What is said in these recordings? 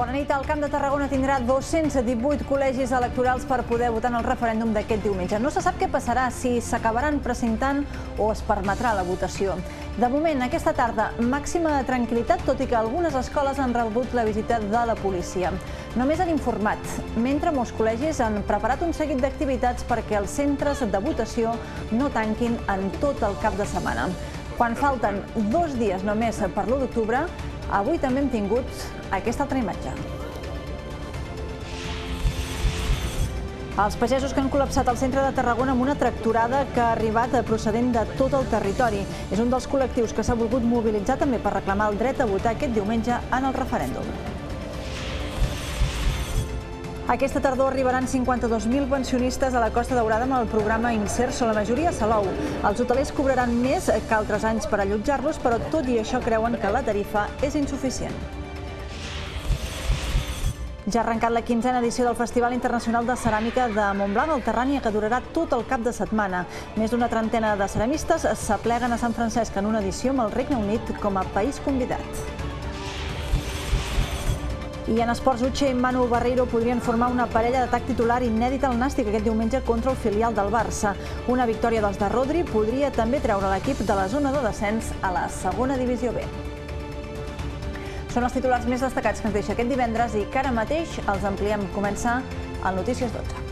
Bona nit. El Camp de Tarragona tindrà 218 col·legis electorals per poder votar en el referèndum d'aquest diumenge. No se sap què passarà, si s'acabaran precintant o es permetrà la votació. De moment, aquesta tarda, màxima tranquil·litat, tot i que algunes escoles han rebut la visita de la policia. Només han informat, mentre molts col·legis han preparat un seguit d'activitats perquè els centres de votació no tanquin en tot el cap de setmana. Quan falten 2 dies només per l'1 d'octubre, avui també hem tingut aquesta altra imatge. Els pagesos que han col·lapsat el centre de Tarragona amb una tractorada que ha arribat procedent de tot el territori. És un dels col·lectius que s'ha volgut mobilitzar també per reclamar el dret a votar aquest diumenge en el referèndum. Aquesta tardor arribaran 52.000 pensionistes a la Costa Daurada amb el programa Inserso, la majoria a Salou. Els hotelers cobraran més que altres anys per allotjar-los, però tot i això creuen que la tarifa és insuficient. Ja ha arrencat la 15a edició del Festival Internacional de Ceràmica de Montblanc al Terrània, que durarà tot el cap de setmana. Més d'una trentena de ceramistes s'apleguen a Sant Francesc en una edició amb el Regne Unit com a país convidat. I en esports, Uche i Manu Barreiro podrien formar una parella d'atac titular inèdita al Nàstic aquest diumenge contra el filial del Barça. Una victòria dels de Rodri podria també treure l'equip de la zona de descens a la segona divisió B. Són els titulars més destacats que ens deixa aquest divendres i que ara mateix els ampliem. Comença el Notícies 12.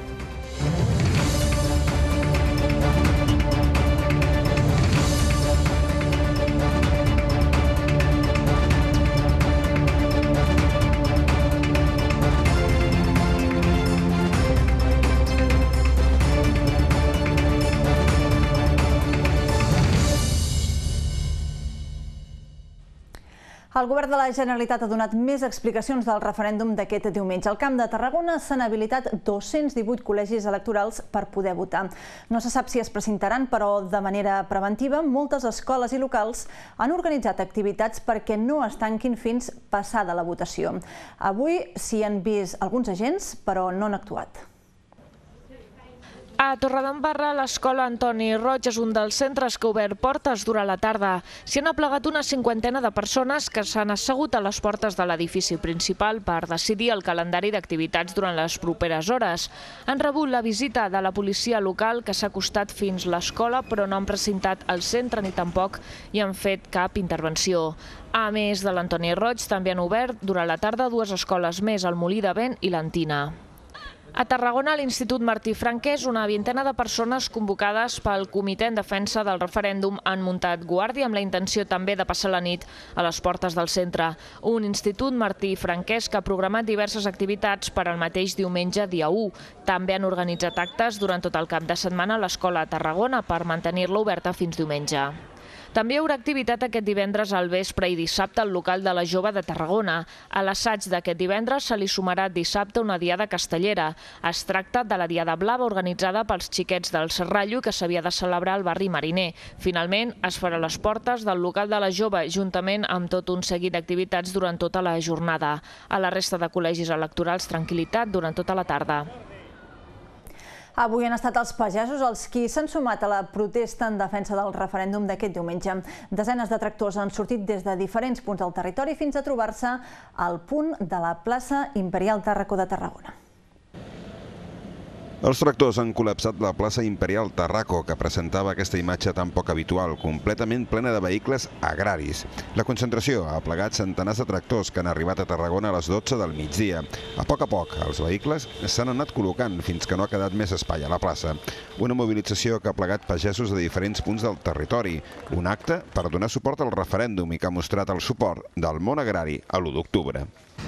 El govern de la Generalitat ha donat més explicacions del referèndum d'aquest diumenge. Al Camp de Tarragona s'han habilitat 218 col·legis electorals per poder votar. No se sap si es presentaran, però de manera preventiva, moltes escoles i locals han organitzat activitats perquè no es tanquin fins passada la votació. Avui s'hi han vist alguns agents, però no han actuat. A Torredembarra, l'escola Antoni Roig és un dels centres que ha obert portes durant la tarda. S'hi han aplegat una 50ena de persones que s'han assegut a les portes de l'edifici principal per decidir el calendari d'activitats durant les properes hores. Han rebut la visita de la policia local, que s'ha acostat fins l'escola, però no han precintat el centre ni tampoc hi han fet cap intervenció. A més de l'Antoni Roig, també han obert durant la tarda 2 escoles més, el Molí de Vent i l'Antina. A Tarragona, a l'Institut Martí Franquès, una vintena de persones convocades pel Comitè en Defensa del Referèndum han muntat guàrdia amb la intenció també de passar la nit a les portes del centre. Un Institut Martí Franquès que ha programat diverses activitats per al mateix diumenge, dia 1. També han organitzat actes durant tot el cap de setmana a l'Escola a Tarragona per mantenir-la oberta fins diumenge. També hi haurà activitat aquest divendres al vespre i dissabte al local de la Jove de Tarragona. A l'assaig d'aquest divendres se li sumarà dissabte una diada castellera. Es tracta de la Diada Blava organitzada pels xiquets del Serrallo que s'havia de celebrar al barri Mariner. Finalment, es farà a les portes del local de la Jove, juntament amb tot un seguit d'activitats durant tota la jornada. A la resta de col·legis electorals, tranquil·litat durant tota la tarda. Avui han estat els pagesos els qui s'han sumat a la protesta en defensa del referèndum d'aquest diumenge. Desenes de tractors han sortit des de diferents punts del territori fins a trobar-se al punt de la plaça Imperial Tàrraco de Tarragona. Els tractors han col·lapsat la plaça Imperial Tàrraco, que presentava aquesta imatge tan poc habitual, completament plena de vehicles agraris. La concentració ha plegat centenars de tractors que han arribat a Tarragona a les 12 del migdia. A poc, els vehicles s'han anat col·locant fins que no ha quedat més espai a la plaça. Una mobilització que ha plegat pagesos de diferents punts del territori. Un acte per donar suport al referèndum i que ha mostrat el suport del món agrari a l'1 d'octubre.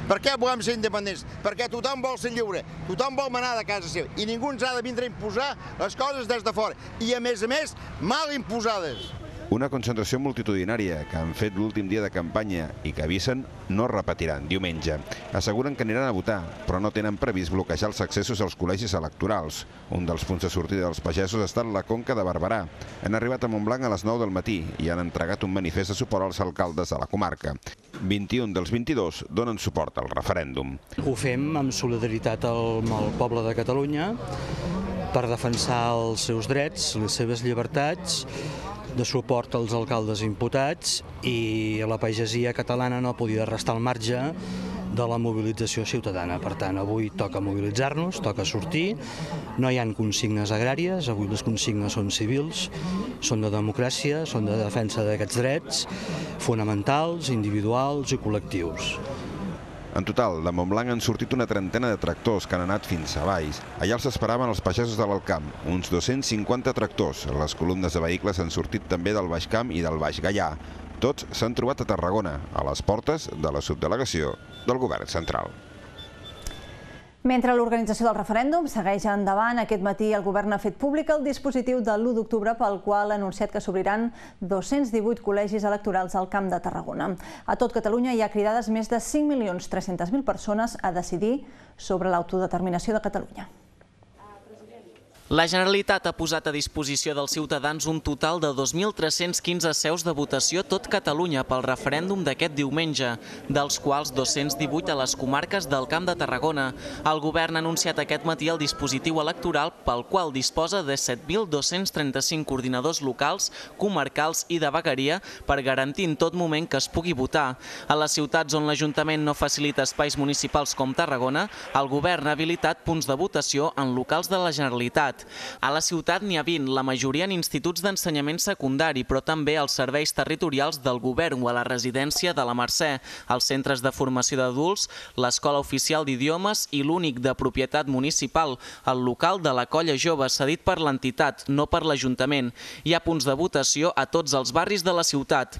Per què volem ser independents? Perquè tothom vol ser lliure, tothom vol manar de casa seva i ningú ens ha de vindre a imposar les coses des de fora i, a més, mal imposades. Una concentració multitudinària que han fet l'últim dia de campanya i que avisen no repetiran diumenge. Asseguren que aniran a votar, però no tenen previst bloquejar els accessos als col·legis electorals. Un dels punts de sortida dels pagesos ha estat la Conca de Barberà. Han arribat a Montblanc a les 9 del matí i han entregat un manifest de suport als alcaldes de la comarca. 21 dels 22 donen suport al referèndum. Ho fem amb solidaritat amb el poble de Catalunya per defensar els seus drets, les seves llibertats, de suport als alcaldes imputats, i la pagesia catalana no podia restar al marge de la mobilització ciutadana. Per tant, avui toca mobilitzar-nos, toca sortir, no hi ha consignes agràries, avui les consignes són civils, són de democràcia, són de defensa d'aquests drets fonamentals, individuals i col·lectius. En total, de Montblanc han sortit una trentena de tractors que han anat fins a Valls. Allà els esperaven els pagesos de l'Alt Camp, uns 250 tractors. Les columnes de vehicles han sortit també del Baix Camp i del Baix Gaià. Tots s'han trobat a Tarragona, a les portes de la subdelegació del Govern central. Mentre l'organització del referèndum segueix endavant, aquest matí el govern ha fet públic el dispositiu de l'1 d'octubre pel qual ha anunciat que s'obriran 218 col·legis electorals al Camp de Tarragona. A tot Catalunya hi ha cridades més de 5.300.000 persones a decidir sobre l'autodeterminació de Catalunya. La Generalitat ha posat a disposició dels ciutadans un total de 2.315 seus de votació tot Catalunya pel referèndum d'aquest diumenge, dels quals 218 a les comarques del Camp de Tarragona. El govern ha anunciat aquest matí el dispositiu electoral pel qual disposa de 7.235 coordinadors locals, comarcals i de vegueria per garantir en tot moment que es pugui votar. A les ciutats on l'Ajuntament no facilita espais municipals com Tarragona, el govern ha habilitat punts de votació en locals de la Generalitat. A la ciutat n'hi ha 20, la majoria en instituts d'ensenyament secundari, però també als serveis territorials del govern o a la residència de la Mercè, als centres de formació d'adults, l'Escola Oficial d'Idiomes i l'únic de propietat municipal, el local de la Colla Jove, cedit per l'entitat, no per l'Ajuntament. Hi ha punts de votació a tots els barris de la ciutat.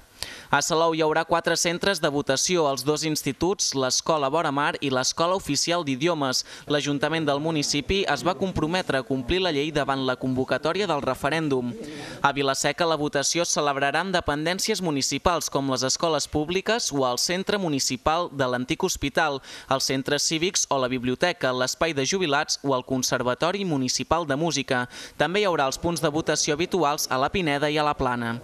A Salou hi haurà 4 centres de votació, els 2 instituts, l'Escola Vora Mar i l'Escola Oficial d'Idiomes. L'Ajuntament del municipi es va comprometre a complir la llei davant la convocatòria del referèndum. A Vila-seca la votació es celebrarà en dependències municipals com les escoles públiques o el centre municipal de l'antic hospital, els centres cívics o la biblioteca, l'espai de jubilats o el Conservatori Municipal de Música. També hi haurà els punts de votació habituals a la Pineda i a la Plana.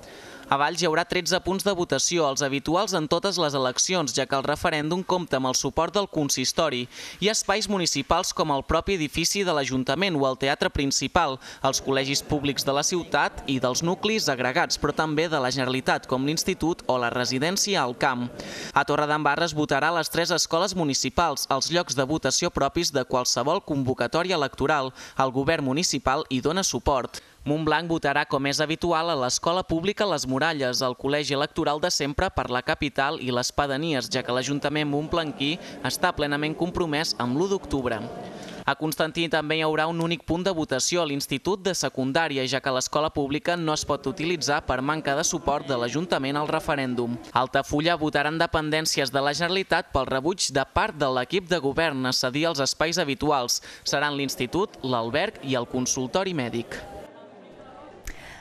A Valls hi haurà 13 punts de votació, els habituals en totes les eleccions, ja que el referèndum compta amb el suport del consistori. Hi ha espais municipals com el propi edifici de l'Ajuntament o el teatre principal, els col·legis públics de la ciutat i dels nuclis agregats, però també de la Generalitat, com l'Institut o la residència al Camp. A Torredembarra es votarà a les 3 escoles municipals, els llocs de votació propis de qualsevol convocatòria electoral. El govern municipal hi dona suport. Montblanc votarà, com és habitual, a l'Escola Pública Les Muralles, el col·legi electoral de sempre per la capital i les pedanies, ja que l'Ajuntament montblanquí està plenament compromès amb l'1 d'octubre. A Constantí també hi haurà un únic punt de votació a l'Institut de Secundària, ja que l'escola pública no es pot utilitzar per manca de suport de l'Ajuntament al referèndum. A Altafulla votaran dependències de la Generalitat pel rebuig de part de l'equip de govern a cedir els espais habituals. Seran l'Institut, l'alberg i el consultori mèdic.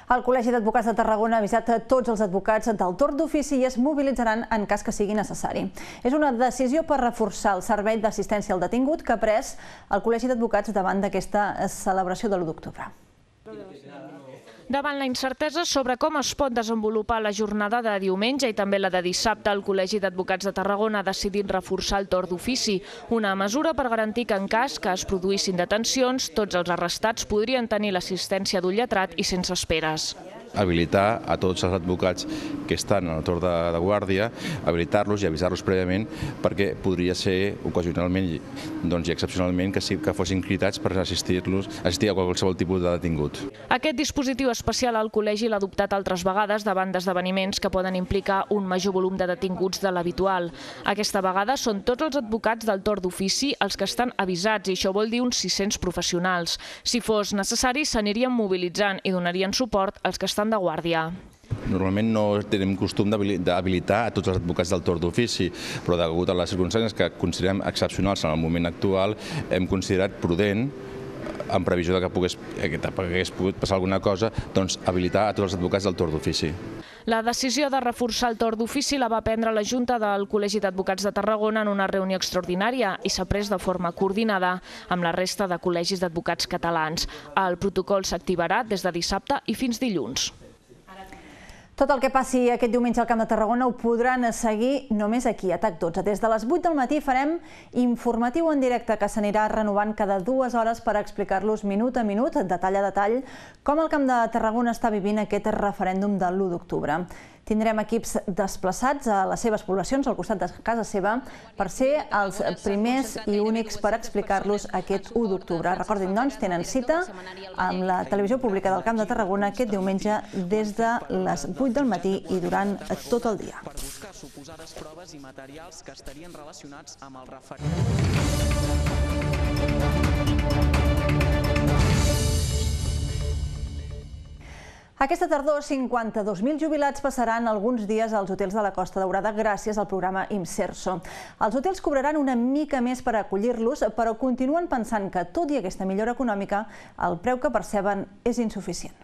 El Col·legi d'Advocats de Tarragona ha avisat a tots els advocats del torn d'ofici i es mobilitzaran en cas que sigui necessari. És una decisió per reforçar el servei d'assistència al detingut que ha pres el Col·legi d'Advocats davant d'aquesta celebració de l'1 d'octubre. Davant la incertesa sobre com es pot desenvolupar la jornada de diumenge i també la de dissabte, el Col·legi d'Advocats de Tarragona ha decidit reforçar el torn d'ofici, una mesura per garantir que en cas que es produïssin detencions, tots els arrestats podrien tenir l'assistència d'un lletrat i sense esperes. Habilitar a tots els advocats que estan en el torn de guàrdia, habilitar-los i avisar-los prèviament perquè podria ser ocasionalment i excepcionalment que fossin cridats per assistir a qualsevol tipus de detingut. Aquest dispositiu especial el Col·legi l'ha adoptat altres vegades davant d'esdeveniments que poden implicar un major volum de detinguts de l'habitual. Aquesta vegada són tots els advocats del torn d'ofici els que estan avisats i això vol dir uns 600 professionals. Si fos necessari, s'anirien mobilitzant i donarien suport als que estan de guàrdia. Normalment no tenim costum d'habilitar a tots els advocats del torn d'ofici, però degut a les circumstàncies que considerem excepcionals en el moment actual, hem considerat prudent, en previsió que hagués pogut passar alguna cosa, doncs habilitar a tots els advocats del torn d'ofici. La decisió de reforçar el torn d'ofici la va prendre la Junta del Col·legi d'Advocats de Tarragona en una reunió extraordinària i s'ha pres de forma coordinada amb la resta de col·legis d'advocats catalans. El protocol s'activarà des de dissabte i fins dilluns. Tot el que passi aquest diumenge al Camp de Tarragona ho podran seguir només aquí, a TAC12. Des de les 8 del matí farem informatiu en directe que s'anirà renovant cada 2 hores per explicar-los minut a minut, detall a detall, com el Camp de Tarragona està vivint aquest referèndum de l'1 d'octubre. Tindrem equips desplaçats a les seves poblacions, al costat de casa seva, per ser els primers i únics per explicar-los aquest 1 d'octubre. Recordin, doncs, tenen cita amb la televisió pública del Camp de Tarragona aquest diumenge des de les 8 del matí i durant tot el dia. Per buscar suposades proves i materials que estarien relacionats amb el referèndum. Aquesta tardor, 52.000 jubilats passaran alguns dies als hotels de la Costa Daurada gràcies al programa Imserso. Els hotels cobraran una mica més per acollir-los, però continuen pensant que, tot i aquesta millora econòmica, el preu que perceben és insuficient.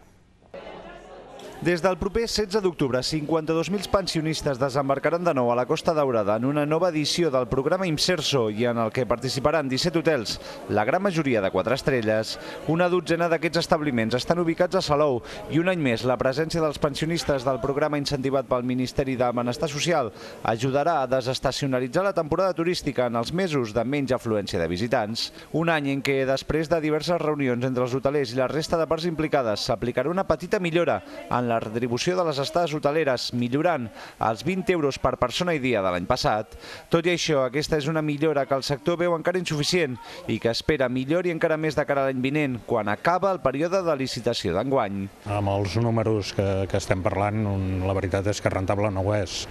Des del proper 16 d'octubre, 52.000 pensionistes desembarcaran de nou a la Costa Daurada en una nova edició del programa Imserso i en el que participaran 17 hotels, la gran majoria de 4 estrelles. Una dotzena d'aquests establiments estan ubicats a Salou i un any més la presència dels pensionistes del programa incentivat pel Ministeri de Benestar Social ajudarà a desestacionalitzar la temporada turística en els mesos de menys afluència de visitants. Un any en què, després de diverses reunions entre els hotelers i la resta de parts implicades, s'aplicarà una petita millora en la retribució de les estades hoteleres, millorant els 20 euros per persona i dia de l'any passat. Tot i això, aquesta és una millora que el sector veu encara insuficient i que espera millori encara més de cara a l'any vinent, quan acaba el període de licitació d'enguany. Amb els números que estem parlant, la veritat és que rentable no ho és.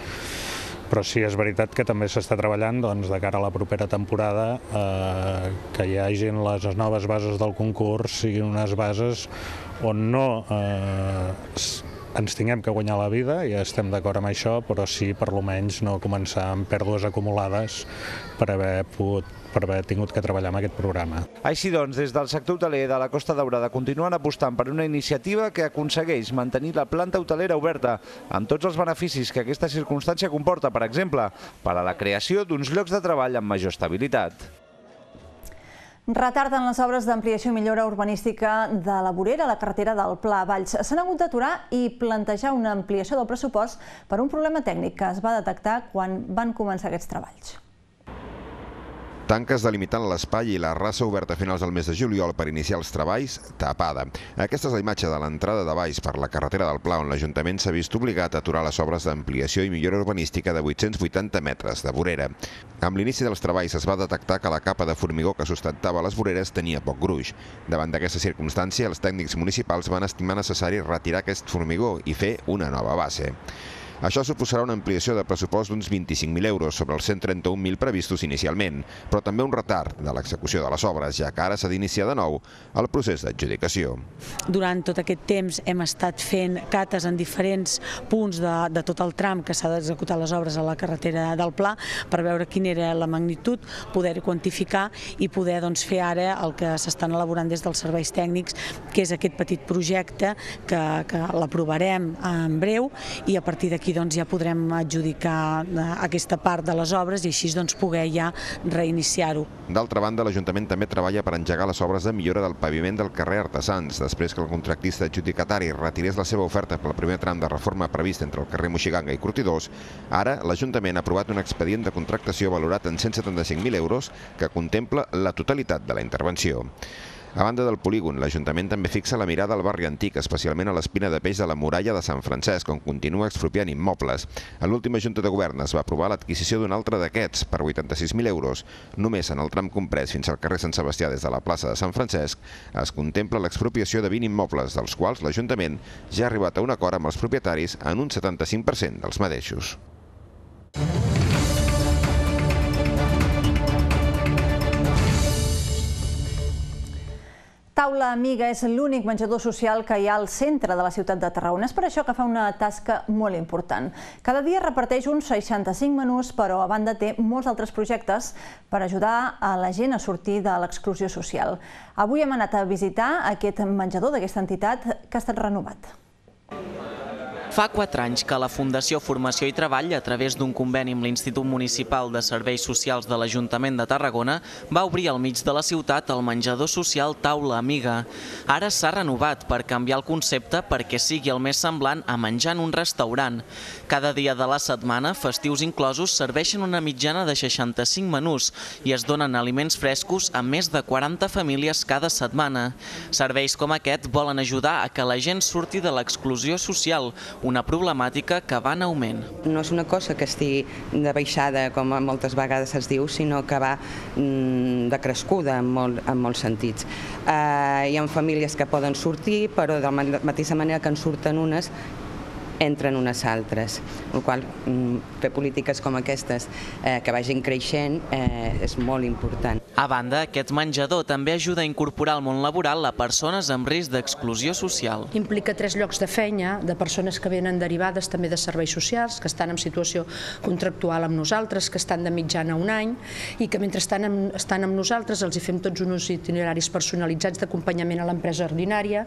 Però sí, és veritat que també s'està treballant de cara a la propera temporada que hi hagin les noves bases del concurs, siguin unes bases on no ens tinguem que guanyar la vida, i estem d'acord amb això, però sí, per almenys, no començar amb pèrdues acumulades per haver tingut que treballar amb aquest programa. Així doncs, des del sector hoteler de la Costa Daurada continuen apostant per una iniciativa que aconsegueix mantenir la planta hotelera oberta, amb tots els beneficis que aquesta circumstància comporta, per exemple, per a la creació d'uns llocs de treball amb major estabilitat. Retarden les obres d'ampliació i millora urbanística de la vorera a la carretera del Pla a Valls. S'han hagut d'aturar i plantejar una ampliació del pressupost per un problema tècnic que es va detectar quan van començar aquests treballs. Tanques delimitant l'espai i la rasa oberta a finals del mes de juliol per iniciar els treballs, tapada. Aquesta és la imatge de l'entrada de Valls per la carretera del Pla, on l'Ajuntament s'ha vist obligat a aturar les obres d'ampliació i millora urbanística de 880 metres de vorera. Amb l'inici dels treballs es va detectar que la capa de formigó que sustentava les voreres tenia poc gruix. Davant d'aquesta circumstància, els tècnics municipals van estimar necessari retirar aquest formigó i fer una nova base. Això suposarà una ampliació de pressupost d'uns 25.000 euros sobre els 131.000 previstos inicialment, però també un retard de l'execució de les obres, ja que ara s'ha d'iniciar de nou el procés d'adjudicació. Durant tot aquest temps hem estat fent cates en diferents punts de tot el tram que s'ha d'executar les obres a la carretera del Pla per veure quina era la magnitud, poder quantificar i poder fer ara el que s'estan elaborant des dels serveis tècnics, que és aquest petit projecte que l'aprovarem en breu i a partir d'aquí ja podrem adjudicar aquesta part de les obres i així poder ja reiniciar-ho. D'altra banda, l'Ajuntament també treballa per engegar les obres de millora del paviment del carrer Artesans, després que el contractista adjudicatari retirés la seva oferta pel primer tram de reforma previst entre el carrer Moixiganga i Cortidors. Ara, l'Ajuntament ha aprovat un expedient de contractació valorat en 175.000 euros que contempla la totalitat de la intervenció. A banda del polígon, l'Ajuntament també fixa la mirada al barri antic, especialment a l'espina de peix de la muralla de Sant Francesc, on continua expropiant immobles. A l'última Junta de Govern es va aprovar l'adquisició d'un altre d'aquests per 86.000 euros. Només en el tram comprès fins al carrer Sant Sebastià des de la plaça de Sant Francesc es contempla l'expropiació de 20 immobles, dels quals l'Ajuntament ja ha arribat a un acord amb els propietaris en un 75% dels mateixos. Taula Amiga és l'únic menjador social que hi ha al centre de la ciutat de Tarragona. És per això que fa una tasca molt important. Cada dia reparteix uns 65 menús, però a banda té molts altres projectes per ajudar a la gent a sortir de l'exclusió social. Avui hem anat a visitar aquest menjador d'aquesta entitat que ha estat renovat. Fa 4 anys que la Fundació Formació i Treball, a través d'un conveni amb l'Institut Municipal de Serveis Socials de l'Ajuntament de Tarragona, va obrir al mig de la ciutat el menjador social Taula Amiga. Ara s'ha renovat per canviar el concepte perquè sigui el més semblant a menjar en un restaurant. Cada dia de la setmana, festius inclosos, serveixen una mitjana de 65 menús i es donen aliments frescos a més de 40 famílies cada setmana. Serveis com aquest volen ajudar a que la gent surti de l'exclusió social, una problemàtica que va en augment. No és una cosa que estigui de baixada, com moltes vegades es diu, sinó que va decrescuda en molts sentits. Hi ha famílies que poden sortir, però de la mateixa manera que en surten unes, entren unes altres, el qual fer polítiques com aquestes que vagin creixent és molt important. A banda, aquest menjador també ajuda a incorporar al món laboral a persones amb risc d'exclusió social. Implica 3 llocs de feina de persones que venen derivades també de serveis socials, que estan en situació contractual amb nosaltres, que estan de mitjana un any i que mentre estan amb nosaltres els hi fem tots uns itineraris personalitzats d'acompanyament a l'empresa ordinària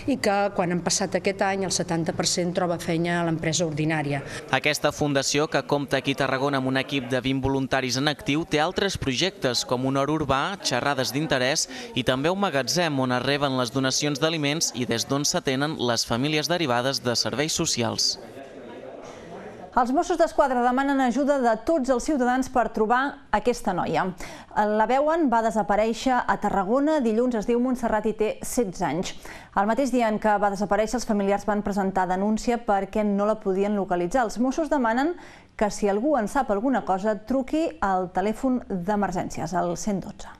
i que quan han passat aquest any el 70% troba feina a l'empresa ordinària. Aquesta fundació, que compta aquí a Tarragona amb un equip de 20 voluntaris en actiu, té altres projectes com un hort urbà, xerrades d'interès i també un magatzem on es reben les donacions d'aliments i des d'on s'atenen les famílies derivades de serveis socials. Els Mossos d'Esquadra demanen ajuda de tots els ciutadans per trobar aquesta noia. La veuen, va desaparèixer a Tarragona, dilluns es diu Montserrat i té 16 anys. El mateix dia en què va desaparèixer, els familiars van presentar denúncia perquè no la podien localitzar. Els Mossos demanen que si algú en sap alguna cosa, truqui al telèfon d'emergències, al 112.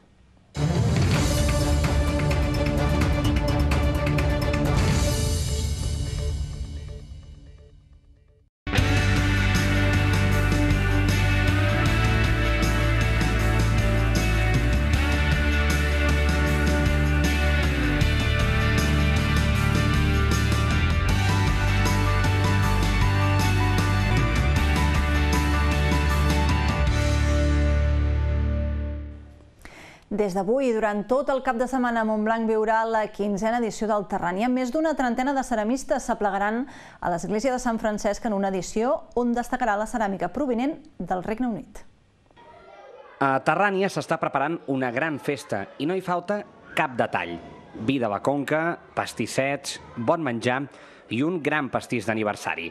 Des d'avui i durant tot el cap de setmana, Montblanc viurà la 15a edició del Terrània. Més d'una trentena de ceramistes s'aplegaran a l'església de Sant Francesc en una edició on destacarà la ceràmica provinent del Regne Unit. A Terrània s'està preparant una gran festa i no hi falta cap detall. Vi de la Conca, pastissets, bon menjar i un gran pastís d'aniversari.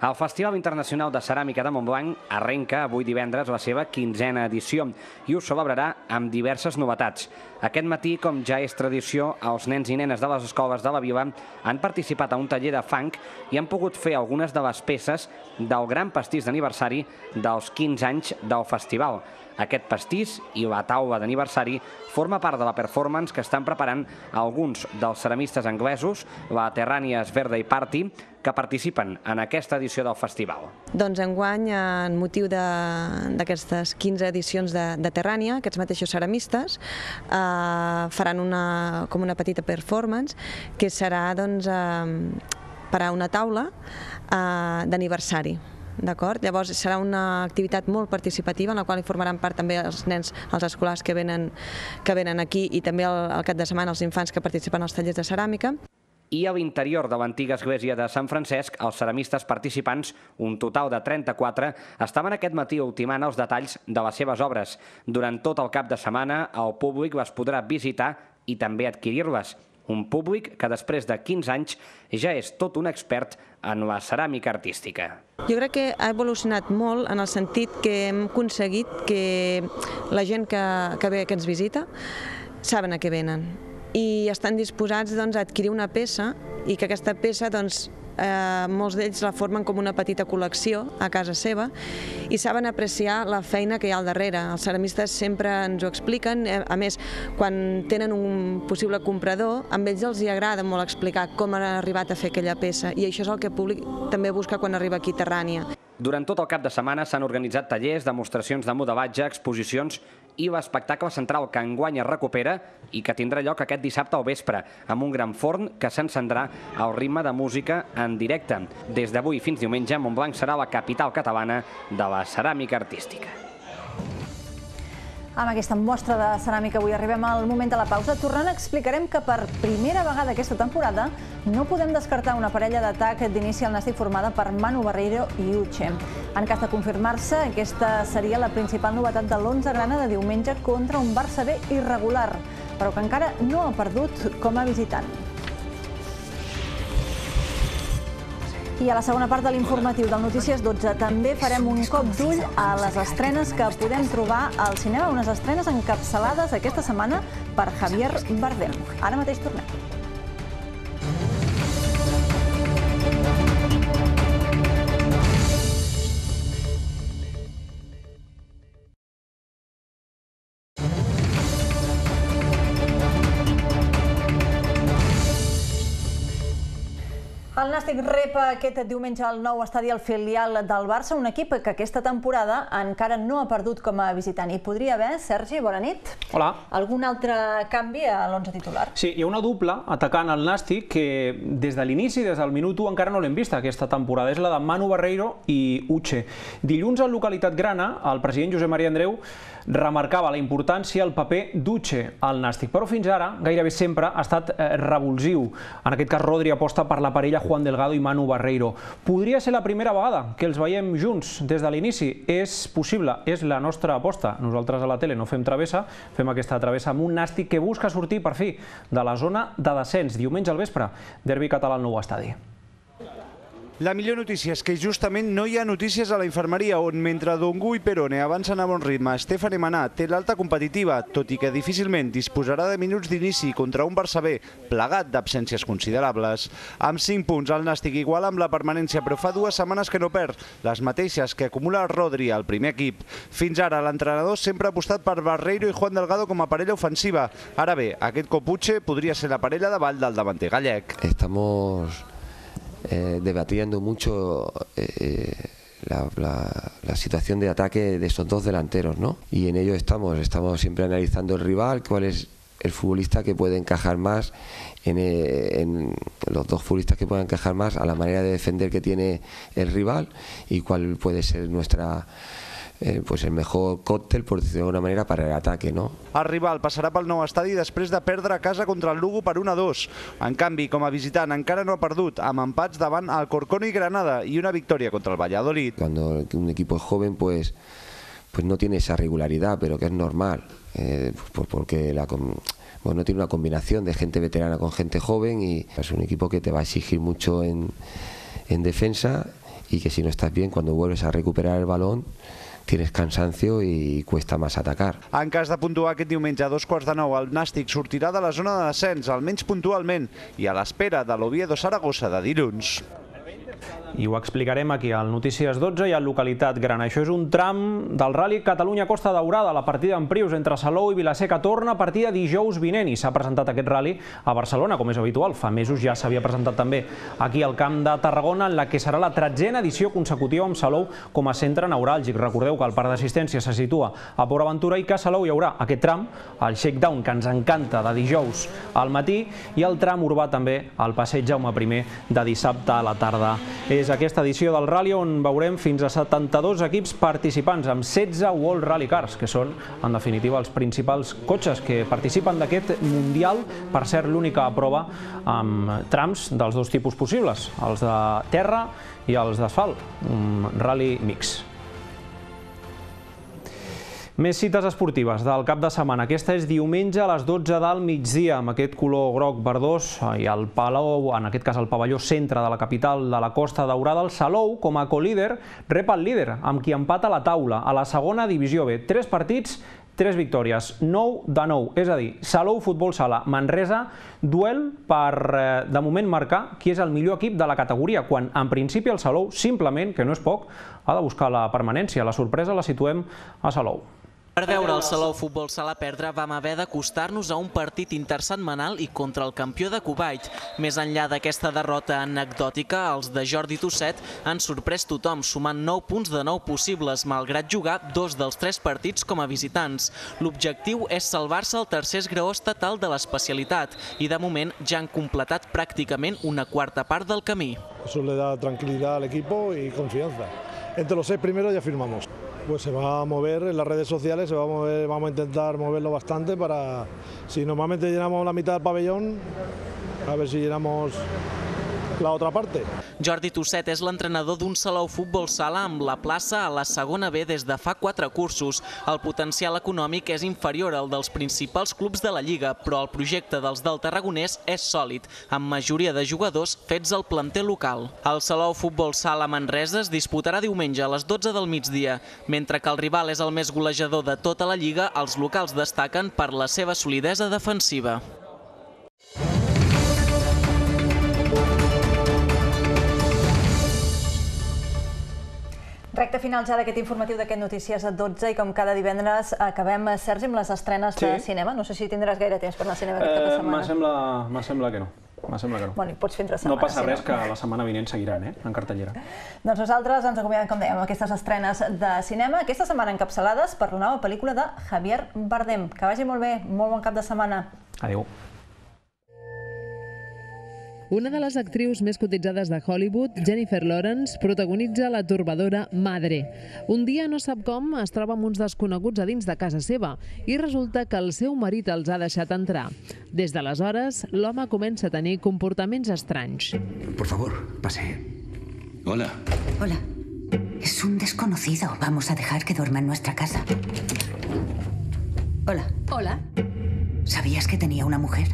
El Festival Internacional de Ceràmica de Montblanc arrenca avui divendres la seva 15a edició i ho celebrarà amb diverses novetats. Aquest matí, com ja és tradició, els nens i nenes de les escoles de la vila han participat a un taller de fang i han pogut fer algunes de les peces del gran pastís d'aniversari dels 15 anys del festival. Aquest pastís i la taula d'aniversari forma part de la performance que estan preparant alguns dels ceramistes anglesos, la Terrània Birthday Party, que participen en aquesta edició del festival. Doncs enguany, en motiu d'aquestes 15 edicions de Terrània, aquests mateixos ceramistes faran com una petita performance que serà per a una taula d'aniversari. Llavors serà una activitat molt participativa en la qual hi formaran part també els nens, els escolars que venen aquí i també al cap de setmana els infants que participen als tallers de ceràmica. I a l'interior de l'antiga església de Sant Francesc, els ceramistes participants, un total de 34, estaven aquest matí ultimant els detalls de les seves obres. Durant tot el cap de setmana, el públic les podrà visitar i també adquirir-les. Un públic que després de 15 anys ja és tot un expert en la ceràmica artística. Jo crec que ha evolucionat molt en el sentit que hem aconseguit que la gent que ve, que ens visita, saben a què venen i estan disposats a adquirir una peça i que aquesta peça molts d'ells la formen com una petita col·lecció a casa seva i saben apreciar la feina que hi ha al darrere. Els ceramistes sempre ens ho expliquen, a més, quan tenen un possible comprador, amb ells els agrada molt explicar com han arribat a fer aquella peça i això és el que el públic també busca quan arriba aquí a Terrània. Durant tot el cap de setmana s'han organitzat tallers, demostracions de modelatge, exposicions i l'espectacle central que enguany es recupera i que tindrà lloc aquest dissabte al vespre, amb un gran forn que s'encendrà al ritme de música en directe. Des d'avui fins diumenge, Montblanc serà la capital catalana de la ceràmica artística. Amb aquesta mostra de ceràmica avui arribem al moment de la pausa. Tornant, explicarem que per primera vegada aquesta temporada no podem descartar una parella d'atac d'inici al Nàstic formada per Manu Barreiro i Uche. En cas de confirmar-se, aquesta seria la principal novetat de l'11 grana de diumenge contra un Barça B irregular, però que encara no ha perdut com a visitant. I a la segona part de l'informatiu del Notícies 12 també farem un cop d'ull a les estrenes que podem trobar al cinema, unes estrenes encapçalades aquesta setmana per Javier Bardem. Ara mateix tornem. El Nàstic rep aquest diumenge al nou estadi al filial del Barça, un equip que aquesta temporada encara no ha perdut com a visitant. Hi podria haver, Sergi, bona nit. Hola. Algun altre canvi a l'11 titular? Sí, hi ha una dupla atacant el Nàstic que des de l'inici, des del minut 1, encara no l'hem vista aquesta temporada. És la de Manu Barreiro i Uche. Dilluns a Localitat Grana, el president Josep Maria Andreu remarcava la importància el paper d'Uche al Nàstic, però fins ara gairebé sempre ha estat revulsiu. En aquest cas, Rodri aposta per la parella Juan Delgado i Manu Barreiro. Podria ser la primera vegada que els veiem junts des de l'inici. És possible, és la nostra aposta. Nosaltres a la tele no fem travessa, fem aquesta travessa amb un Nàstic que busca sortir per fi de la zona de descens. Diumenge al vespre, derbi català al nou estadi. La millor notícia és que justament no hi ha notícies a la infermeria, on mentre Dongu i Perone avancen a bon ritme, Stefan Emaná té l'alta competitiva, tot i que difícilment disposarà de minuts d'inici contra un Barça B plegat d'absències considerables. Amb 5 punts, el Nàstic igual amb la permanència, però fa 2 setmanes que no perd, les mateixes que acumula Rodri al primer equip. Fins ara, l'entrenador sempre ha apostat per Barreiro i Juan Delgado com a parella ofensiva. Ara bé, aquest cop Uche podria ser la parella davall del davanter gallec. Estamos debatiendo mucho la situación de ataque de estos dos delanteros, ¿no? Y en ello estamos siempre analizando el rival, cuál es el futbolista que puede encajar más en los dos futbolistas que puedan encajar más a la manera de defender que tiene el rival y cuál puede ser nuestra pues el mejor còctel, por decirlo de alguna manera, para el ataque, ¿no? El rival passarà pel nou estadi després de perdre a casa contra el Lugo per 1-2. En canvi, com a visitant, encara no ha perdut, amb empats davant Alcorcón i Granada y una victoria contra el Valladolid. Cuando un equipo es joven, pues no tiene esa regularidad, pero que es normal, porque no tiene una combinación de gente veterana con gente joven y es un equipo que te va a exigir mucho en defensa y que si no estás bien, cuando vuelves a recuperar el balón, tienes cansancio y cuesta más atacar. En cas de puntuar aquest diumenge a 8:45, el Nàstic sortirà de la zona de descens, almenys puntualment, i a l'espera de l'Oviedo Saragossa de dilluns. I ho explicarem aquí al Notícies 12 i a Localitat Grana. Això és un tram del Rally Catalunya-Costa Daurada. La partida en Prius entre Salou i Vilaseca torna a partir de dijous vinent i s'ha presentat aquest rally a Barcelona, com és habitual. Fa mesos ja s'havia presentat també aquí al Camp de Tarragona, en la que serà la 13a edició consecutiva amb Salou com a centre neuràlgic. Recordeu que el parc d'assistència se situa a Port Aventura i que a Salou hi haurà aquest tram, el shakedown, que ens encanta, de dijous al matí, i el tram urbà també, al passeig Jaume I, de dissabte a la tarda. És aquesta edició del Rally on veurem fins a 72 equips participants amb 16 World Rally Cars, que són, en definitiva, els principals cotxes que participen d'aquest Mundial, per cert, l'única prova amb trams dels dos tipus possibles, els de terra i els d'asfalt, un rally mix. Més cites esportives del cap de setmana. Aquesta és diumenge a les 12 del migdia, amb aquest color groc verdós i el Palau, en aquest cas el pavelló centre de la capital de la Costa Daurada. El Salou, com a colíder, rep el líder, amb qui empata la taula a la segona divisió B. 3 partits, 3 victòries, 9 de 9. És a dir, Salou Futbol Sala Manresa, duel per, de moment, marcar qui és el millor equip de la categoria, quan en principi el Salou, simplement, que no és poc, ha de buscar la permanència. La sorpresa la situem a Salou. Per veure el Salou Futbol Sala perdre vam haver d'acostar-nos a un partit intersetmanal i contra el campió de Kuwait. Més enllà d'aquesta derrota anecdòtica, els de Jordi Tosset han sorprès tothom, sumant 9 punts de 9 possibles, malgrat jugar 2 dels 3 partits com a visitants. L'objectiu és salvar-se el tercer esgraó estatal de l'especialitat i de moment ja han completat pràcticament una quarta part del camí. Eso le da tranquilidad al equipo y confianza. Entre los 6 primeros ya firmamos. pues se va a mover en las redes sociales, vamos a intentar moverlo bastante para, si normalmente llenamos la mitad del pabellón, a ver si llenamos la otra parte. Jordi Tosset és l'entrenador d'un Salou Futbol Sala amb la plaça a la segona B des de fa 4 cursos. El potencial econòmic és inferior al dels principals clubs de la Lliga, però el projecte dels del Tarragonès és sòlid, amb majoria de jugadors fets al planter local. El Salou Futbol Sala Manresa es disputarà diumenge a les 12 del migdia. Mentre que el rival és el més golejador de tota la Lliga, els locals destaquen per la seva solidesa defensiva. Recte final ja d'aquest informatiu d'aquest Notícies a 12 i com cada divendres acabem, Sergi, amb les estrenes de cinema. No sé si tindràs gaire temps per anar al cinema aquesta setmana. M'assembla que no. Bueno, i pots fer entre setmanes. No passa res, que la setmana vinent seguiran, en cartellera. Doncs nosaltres ens acomiadem, com dèiem, amb aquestes estrenes de cinema, aquesta setmana encapçalades per la nova pel·lícula de Javier Bardem. Que vagi molt bé, molt bon cap de setmana. Adéu. Una de les actrius més cotitzades de Hollywood, Jennifer Lawrence, protagonitza la torbadora Madre. Un dia no sap com es troba amb uns desconeguts a dins de casa seva i resulta que el seu marit els ha deixat entrar. Des d'aleshores, l'home comença a tenir comportaments estranys. Por favor, pase. Hola. Hola. Es un desconocido. Vamos a dejar que duerma en nuestra casa. Hola. Hola. ¿Sabías que tenía una mujer?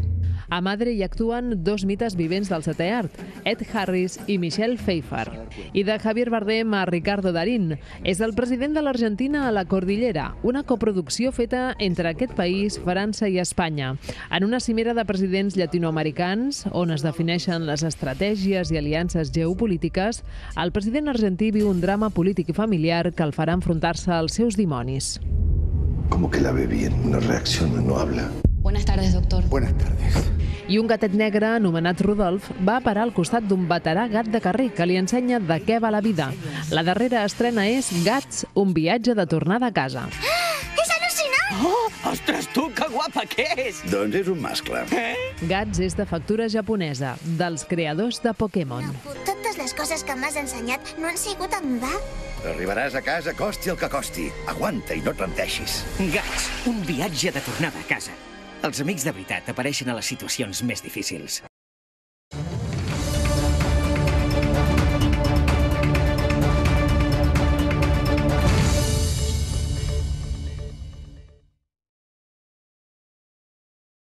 A Madre hi actuen dos mites vivents del setè art, Ed Harris i Michelle Pfeiffer. I de Javier Bardem a Ricardo Darín. És el president de l'Argentina a la Cordillera, una coproducció feta entre aquest país, França i Espanya. En una cimera de presidents llatinoamericans, on es defineixen les estratègies i aliances geopolítiques, el president argentí viu un drama polític i familiar que el farà enfrontar-se als seus dimonis. Como que la ve bien, no reacciona, no habla. Buenas tardes, doctor. Buenas tardes. I un gatet negre anomenat Rodolf va parar al costat d'un veterà gat de carrer que li ensenya de què va la vida. La darrera estrena és Gats, un viatge de tornada a casa. És al·lucinant! Oh, ostres, tu, que guapa que és! Doncs és un mascle. Gats és de factura japonesa, dels creadors de Pokémon. Totes les coses que m'has ensenyat no han sigut en va? Arribaràs a casa, costi el que costi. Aguanta i no et rendeixis. Gats, un viatge de tornada a casa. Els amics de veritat apareixen a les situacions més difícils.